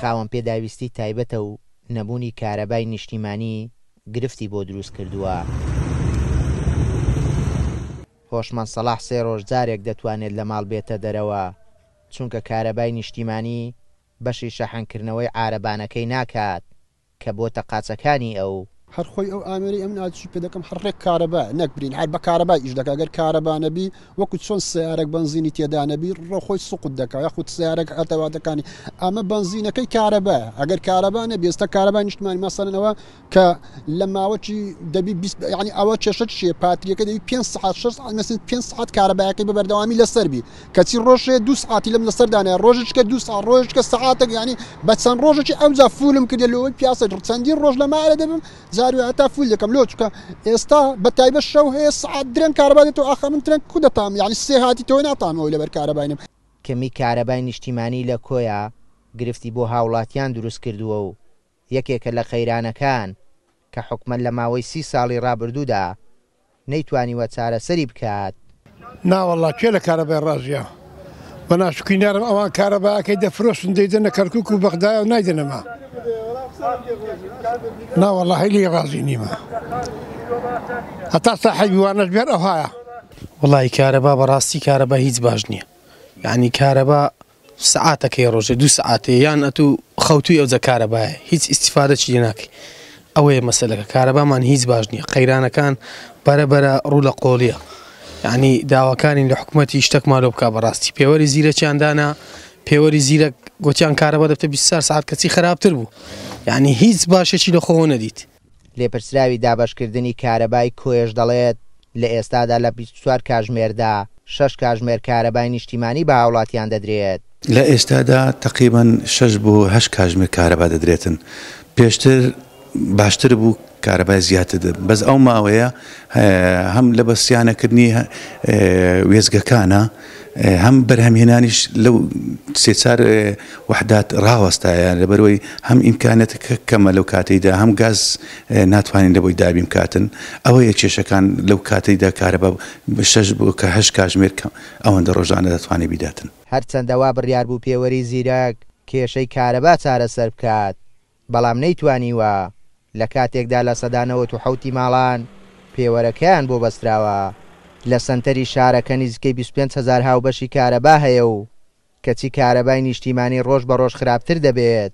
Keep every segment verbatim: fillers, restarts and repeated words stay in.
خاوەن پێداویستی تایبەتە و نەبوونی کارەبای نیشتیمانی گرفتی بۆ دروست کردووە. هۆشمەند سەڵاح سێ ڕۆژ جارێک دەتوانێت لە ماڵ بێتە دەرەوە، چونکە کارەبای نیشتیمانی بەشی شەحنکردنەوەی عارەبانەکەی ناکات کە بۆتە قاچەکانی ئەو. هەر خۆی ئەو ئامێرەی ئەمن ئاچی پێ دەکەم هەر ڕێک کارەبا نەک برین هەر بە کارەبا ئیش دەکا، گەر کارەبا نەبی وەکو چۆن سیارەک بەنزینی تێدا نەبی ڕۆ خۆی سوقت دەکا، یاخود سیارەک ئەتەواتەکانی ئەمە بەنزینەکەی کارەبا، ئەگەر کارەبا نەبی ئێستا کارەبای نیشتمانی مەسەلەن ئەوە کە لە ماوەکی دەبی بیست، یعنی ئەوە کێشە چییە؟ پاتریەکە دەبی پێنج سەعات شەش سەعات مەسەلەن پێنج سەعات کارەبایەکەی بە بەردەوامی لەسەر بی، کەچی ڕۆژێ دوو سەعاتی لەم لەسەر دانایە، ڕۆژێکە دوو سەعات ڕۆژێکە سەعاتێک، یعنی بە چەند ڕۆژێکی ئەوجا فولم کردێ لەوەی پیاسە چەندین ڕۆژ لە مارە دەبم جاروێ هەتا فول دەکەم لۆ، چونکە ئێستا بە تایبەت شەو هەیە سەعات درەنگ کارەبا دێتەوە، ئاخە من درەنگ کو دەتام، یعنی سێ هاتی تۆ ناتامەوە لەبەر کارەباینم. کەمی کارەبای نیشتیمانی لە کۆیە گرفتی بۆ هاوڵاتیان دروست کردووە و یەکێکە لە قەیرانەکان کە حکومەت لە ماوەی سی ساڵی ڕابردوودا نەیتوانیوە چارەسەری بکات. ناوەڵا کێ لە کارەبای ڕازیە؟ بە ناشکری نارم ئەوان کارەباکەی دەفرۆشن دەیدەنە کەرکوک و بەغدایە و نایدەنەما. ناوەڵا هەیلی ڕازی نیمە هەتا ساحێبی وانەش بێن ئەوهایە. وەڵی کارەبا بەڕاستی کارەبا هیچ باش نییە، یعنی کارەبا سەعاتەکەی ڕۆژێ دوو سەعاتێ یان ئەتوو خەوتووی ئەوجە کارەبایە هیچ ئیسیفادەکی لێ ناکەی. ئەوەیە مەسەلەکە، کارەبامان هیچ باش نییە، قەیرانەکان بەرەبەرە ڕوو لە قۆڵیە، یعنی داواکانین لە حکوومەتی شتێکمان لۆ بکا. بەڕاستی پێوەری زیرەکیان دانا، پێوەری زیرەک گوتیان کارەبا دەبتە بیست و چوار سەعات کەچی خراپتر بوو، یعنی هیچ باشێکی لە خۆوە نەدیت. لێپرسراوی دابەشکردنی کارەبای کۆیەش دەڵێت لە ئێستادا لە بیست و چوار کاژمێردا شەش کاژمێر کارەبای نیشتیمانی بە هاوڵاتیان دەدرێت. لە ئێستادا تقریباً شەش بۆ هەشت کاژمێر کارەبا دەدرێتن. پێشتر باشتر بوو کارەبای زیاتر دەبن، بەس ئەو ماوەیە هەم لە بەسیانەکردنی وێزگەکانە هەم بەرهەمهێنانیش لەو سێ چار وحدات ڕاوەستایە، لەبەرەوەی هەم ئیمکانەتەکە کەمە لەو کاتەیدا، هەم گاز ناتوانین لەبۆی دابین بکاتن. ئەوەیە کێشەکان لەو کاتەیدا کارەبا شەش بۆ کە هەشت کاژمێر کەم ئەوەندە ڕۆژانە دەتوانێت بیداتن. هەرچەندە وا بڕیار بوو پێوەری زیرەک کێشەی کارەبا چارەسەر بکات، بەڵام نەیتوانیوە لە کاتێکدا لە سەدا نەوەت و حەوتی ماڵان پێوەرەکەیان بۆ بەستراوە. لە سەنتەری شارەکە نزیکەی بیست و پێنج هەزار هاوبەشی کارەبا هەیە و کەچی کارەبای نیشتیمانی ڕۆژ بە ڕۆژ خراپتر دەبێت.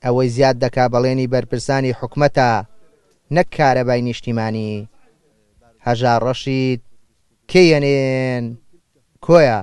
ئەوەی زیاد دەکا بەڵێنی بەرپرسانی حکومەتە نەک کارەبای نیشتیمانی. هەژار ڕەشید، کێ ئێن ئێن، کۆیە.